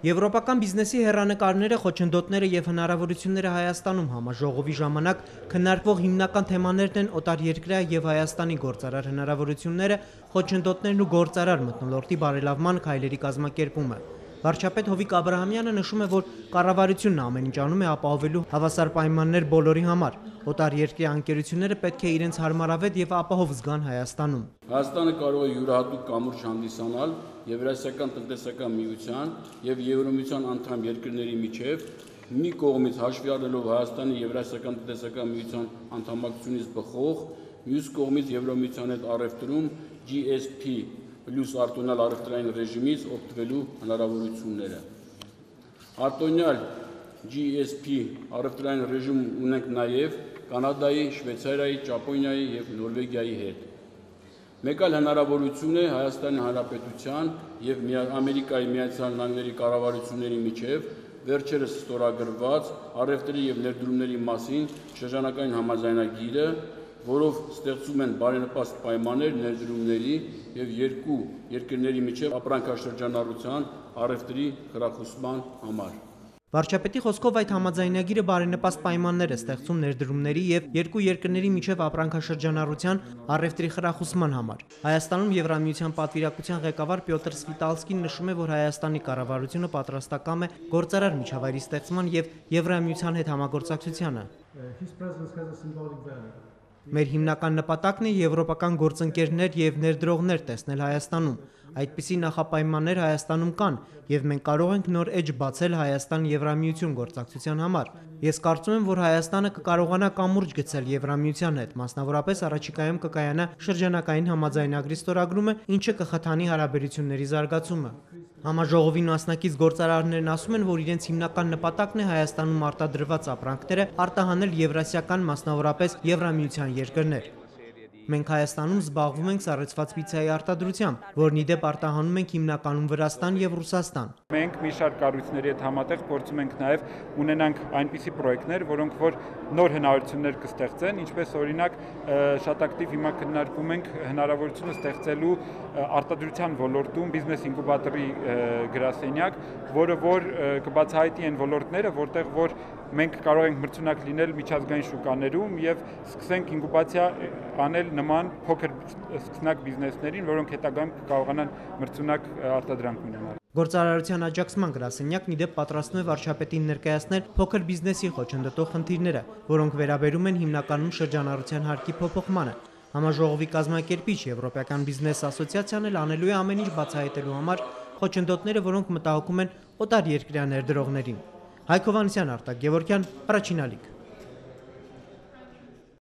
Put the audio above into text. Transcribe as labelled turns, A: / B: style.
A: Եվրոպական բիզնեսի հեռանկարները, խոչընդոտները եւ հնարավորությունները Հայաստանում համաժողովի ժամանակ քննարկվող հիմնական թեմաներն են օտարերկրյա եւ Հայաստանի գործարար հնարավորությունները, խոչընդոտներն ու գործարար մթնոլորտի բարելավման քայլերի կազմակերպումը։ Վարչապետ Հովիկ Աբրահամյանը նշում է, որ կառավարությունն ամեն ինչ անում է ապահովելու հավասար պայմաններ բոլորի համար։ Օտարերկրյա ընկերությունները պետք է իրենց հարմարավետ եւ ապահով զգան Հայաստանում։
B: Հայաստանը կարող է յուրահատուկ կամուրջ հանդիսանալ Եվրասիական տնտեսական միության եւ Եվրոմիության անդամ երկրների միջև, մի կողմից հաշվի առնելով Հայաստանի Եվրասիական տնտեսական միության անդամակցությունից բխող, մյուս կողմից Եվրոմիության հետ առևտրում GSP պլյուս արտոնյալ առևտրային ռեժիմից օգտվելու հնարավորությունները։ Արտոնյալ GSP առևտրային ռեժիմ ունենք նաև Կանադայի, Շվեյցարիայի, Ճապոնիայի եւ Նորվեգիայի հետ։ Մեկ այլ հնարավորություն է Հայաստանի Հանրապետության եւ Ամերիկայի Միացյալ Նահանգների կառավարությունների միջև վերջերս ստորագրված առևտրի եւ ներդրումների մասին շրջանական համաձայնագիրը, որով ստեղծում են բարենպաստ պայմաններ ներդրումների եւ երկու երկրների միջև ապրանքաշրջանառության առևտրի խրախուսման համար։
A: Վարչապետի խոսքով այդ համաձայնագիրը բարենպաստ պայմաններ է ստեղծում ներդրումների եւ երկու երկրների միջև ապրանքաշրջանառության առևտրի խրախուսման համար։ Հայաստանում Եվրամիության պատվիրակության ղեկավար Պյոտր Սվիտալսկին նշում է, որ Հայաստանի կառավարությունը պատրաստակամ է գործարար միջավայրի ստեղծման եւ Եվրամիության հետ համագործակցությանը։ Մեր հիմնական նպատակն է եվրոպական գործընկերներ եւ ներդրողներ տեսնել Հայաստանում։ Այդպիսի նախապայմաններ Հայաստանում կան եւ մենք կարող ենք նոր էջ բացել Հայաստան-Եվրամիություն գործակցության համար։ Ես կարծում եմ, որ Հայաստանը կկարողանա կամուրջ գցել Եվրամիության հետ, մասնավորապես առաջիկայում կկայանա շրջանակային համաձայնագրի ստորագրումը, ինչը կխթանի հարաբերությունների զարգացումը։ Համաժողովի մասնակից գործարարներն ասում են, որ իրենց հիմնական նպատակն է Հայաստանում արտադրված ապրանքները արտահանել եվրասիական, մասնավորապես Եվրամիության երկրներ։ Մենք Հայաստանում զբաղվում ենք սառեցված պիցայի արտադրությամբ, որն ի դեպ արտահանում ենք հիմնականում Վրաստան եւ Ռուսաստան։
C: Մենք մի շարք կառույցների հետ համատեղ փորձում ենք նաեւ ունենանք այնպիսի պրոյեկտներ, որոնք որ նոր հնարավորություններ կստեղծեն, ինչպես օրինակ շատ ակտիվ հիմա քննարկում ենք հնարավորությունը ստեղծելու արտադրության ոլորտում բիզնես ինկուբատորի գրասենյակ, որը որ կբացահայտի այն ոլորտները, որտեղ որ մենք կարող ենք մրցունակ լինել միջազգային շուկաներում եւ սկսենք ինկուբացիա անել նման փոքր սկսնակ բիզնեսներին, որոնք հետագայում կկարողանան մրցունակ արտադրանք ունենալ։
A: Գործարարության աջակցման գրասենյակն ի դեպ պատրաստում է վարչապետին ներկայացնել փոքր բիզնեսի խոչընդոտող խնդիրները, որոնք վերաբերում են հիմնականում շրջանառության հարկի փոփոխմանը։ Համաժողովի կազմակերպիչ Եվրոպական բիզնես ասոցիացիան էլ անելու է ամեն ինչ բացահայտելու համար խոչընդոտները, որոնք մտահոգում են օտարերկրյա ներդրողներին։ Հայկ Հովհաննիսյան, Արտակ Գևորգյան, Առաջին ալիք։